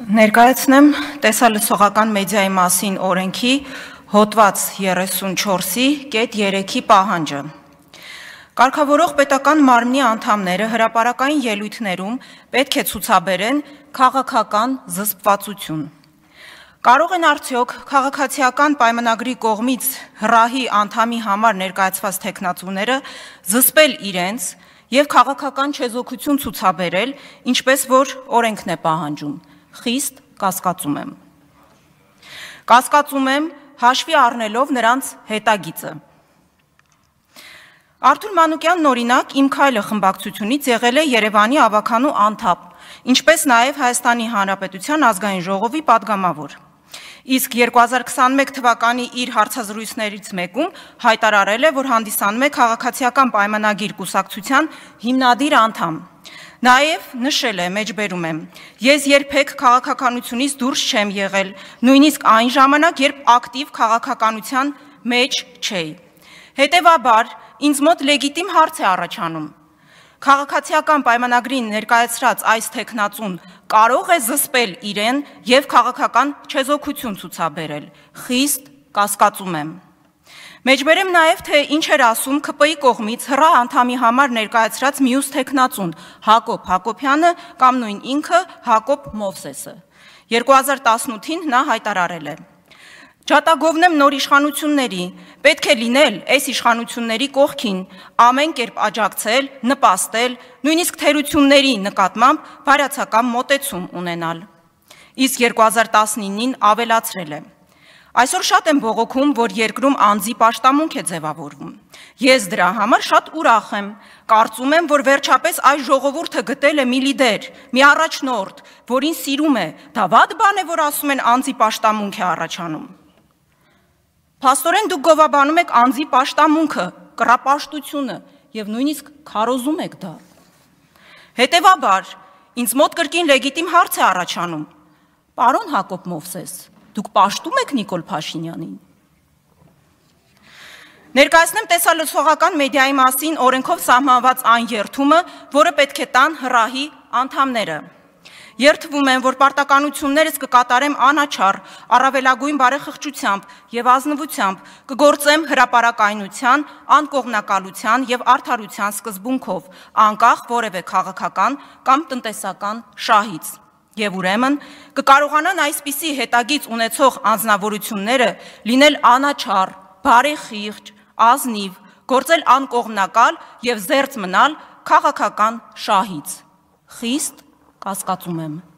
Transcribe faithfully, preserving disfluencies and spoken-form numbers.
Ներկայացնեմ տեսալսողական մեդիայի մասին օրենքի հոդված երեսունչորսի կետ երեքի պահանջը։ Կարգավորող պետական մարմնի անդամները հրապարակային ելույթներում պետք է ցուցաբերեն քաղաքական զսպվածություն։ Կարող են արդյոք քաղաքացիական պայմանագրի կողմից հրահի անդամի համար ներկայացված թեկնածուները զսպել իրենց և քաղաքական չեզոքություն ցուցաբերել, ինչպես որ օրենքն է պահանջում։ Խիստ կասկածում եմ։ Կասկածում եմ հաշվի առնելով նրանց հետագիծը։ Արթուր Մանուկյանն օրինակ «Իմ քայլը» խմբակցությունից եղել է Երևանի ավականու անդամ, ինչպես նաև Հայաստանի Հանրապետության ազգային ժողովի պատգամավոր։ Իսկ երկու հազար քսաներորդ թվականի իր հարցազրույցներից մեկում հայտարարել է, որ հանդիսանում է քաղաքացիական պայմանագիր կուսակցության հիմնադիր անդամ։ Նաև նշել է, մեջբերում եմ, ես երբեք քաղաքականությունից դուրս չեմ եղել, նույնիսկ այն ժամանակ, երբ ակտիվ քաղաքականության մեջ չէի։ Հետևաբար, ինձ մոտ լեգիտիմ հարց է առաջանում. քաղաքացիական պայմանագրին ներկայացրած այս թեկնածուն կարող է զսպել իրեն և քաղաքական չեզոքություն ցուցաբերել։ Խիստ կասկածում եմ։ Մեջբերեմ նաև, թե ինչ էր ասում ՔՊ-ի կողմից հրահ անդամի համար ներկայացրած մյուս թեկնածուն Հակոբ Հակոբյանը կամ նույն ինքը Հակոբ Մովսեսը։ երկու հազար տասնութին նա հայտարարել է. Ջատագովնեմ նոր իշխանությունների, պետք է լինել այս իշխանությունների կողքին, ամեն կերպ աջակցել, նպաստել, նույնիսկ թերությունների նկատմամբ բարյացակամ մոտեցում ունենալ։ Իսկ երկու հազար տասնինին ավելացրել է. Այսօր շատ եմ բողոքում, որ երկրում անձի պաշտամունք է ձևավորվում։ Ես դրա համար շատ ուրախ եմ, կարծում եմ, որ վերջապես այս ժողովուրդը գտել է մի լիդեր, մի առաջնորդ, որին սիրում է, դա վատ բան է, որ ասում են անձի պաշտամունք է առաջանում։ Փաստորեն դուք գովաբանում եք անձի պաշտամունքը, կռապաշտությունը և նույնիսկ քարոզում եք դա։ Հետևաբար, ինձ մոտ կրկին լեգիտիմ հարց է առաջանում. Պարոն Հակոբ Մովսես, դուք պաշտում եք Նիկոլ Փաշինյանին։ Ներկայացնեմ տեսալսողական մեդիայի մասին օրենքով սահմանված այն երթումը, որը պետք է տան հրահի անդամները։ Երթվում եմ, որ պարտականություններս կկատարեմ անաչառ, առավելագույն բարեխղճությամբ և ազնվությամբ, կգործեմ հրապարակայնության, անկողմնակալության և արդարության սկզբունքով, անկախ որևէ քաղաքական կամ տնտեսական շահից։ Եվ ուրեմն կկարողանան այսպիսի հետագիծ ունեցող անձնավորությունները լինել անաչառ, բարեխիղճ, ազնիվ, գործել անկողմնակալ և զերծ մնալ քաղաքական շահից։ Խիստ կասկածում եմ։